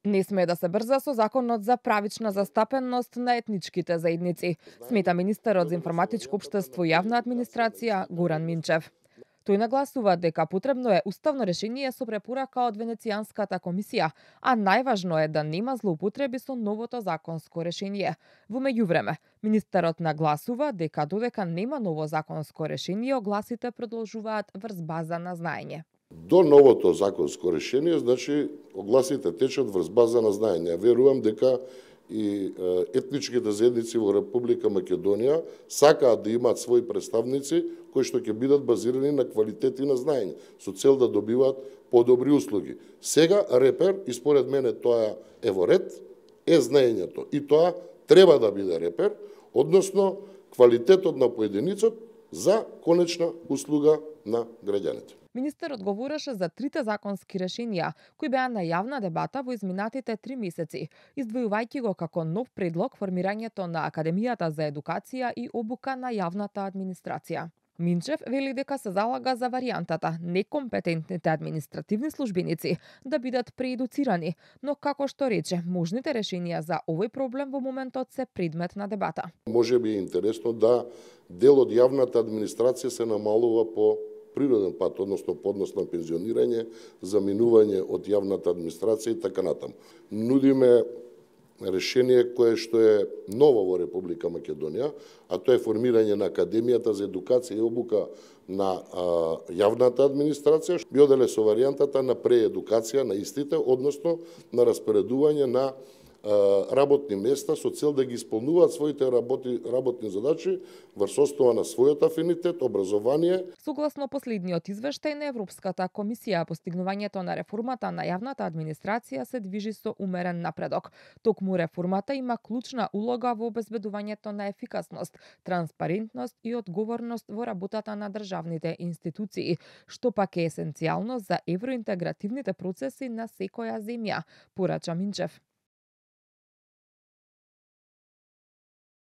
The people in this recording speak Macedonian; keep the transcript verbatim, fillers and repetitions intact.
Не смее да се брза со законот за правична застапеност на етничките заедници, смета министерот за информатичко општество и јавна администрација Горан Минчев. Тој нагласува дека потребно е уставно решение со препорака од Венецијанската комисија, а најважно е да нема злоупотреби со новото законско решение. Во меѓувреме, министерот нагласува дека додека нема ново законско решение, огласите продолжуваат врз база на знаење. До новото законско решение, значи, огласите течат врз база на знаење. Верувам дека и етничките заедници во Република Македонија сакаат да имаат своји представници кои што ќе бидат базирани на квалитет и на знаење, со цел да добиваат подобри услуги. Сега репер, и според мене тоа е во ред, е знаењето. И тоа треба да биде репер, односно квалитетот на поединицот за конечна услуга на граѓаните. Министерот говореше за трите законски решенија кои беа на јавна дебата во изминатите три месеци, издвојувајќи го како нов предлог формирањето на Академијата за едукација и обука на јавната администрација. Минчев вели дека се залага за варијантата некомпетентните административни службеници да бидат преедуцирани, но како што рече, можните решенија за овој проблем во моментот се предмет на дебата. Може би е интересно да дел од јавната администрација се намалува по природен пат, односно по однос на пензионирање, заминување од јавната администрација и така натаму. Нудиме решение кое што е ново во Република Македонија, а тоа е формирање на Академијата за едукација и обука на а, јавната администрација, би оделе со варијантата на преедукација на истите, односно на распоредување на работни места со цел да ги исполнуваат своите работи, работни задачи врз основа на својот афинитет, образование. Согласно последниот извештај на Европската комисија, постигнувањето на реформата на јавната администрација се движи со умерен напредок. Токму реформата има клучна улога во обезбедувањето на ефикасност, транспарентност и одговорност во работата на државните институции, што пак е есенцијално за евроинтегративните процеси на секоја земја, порача Минчев.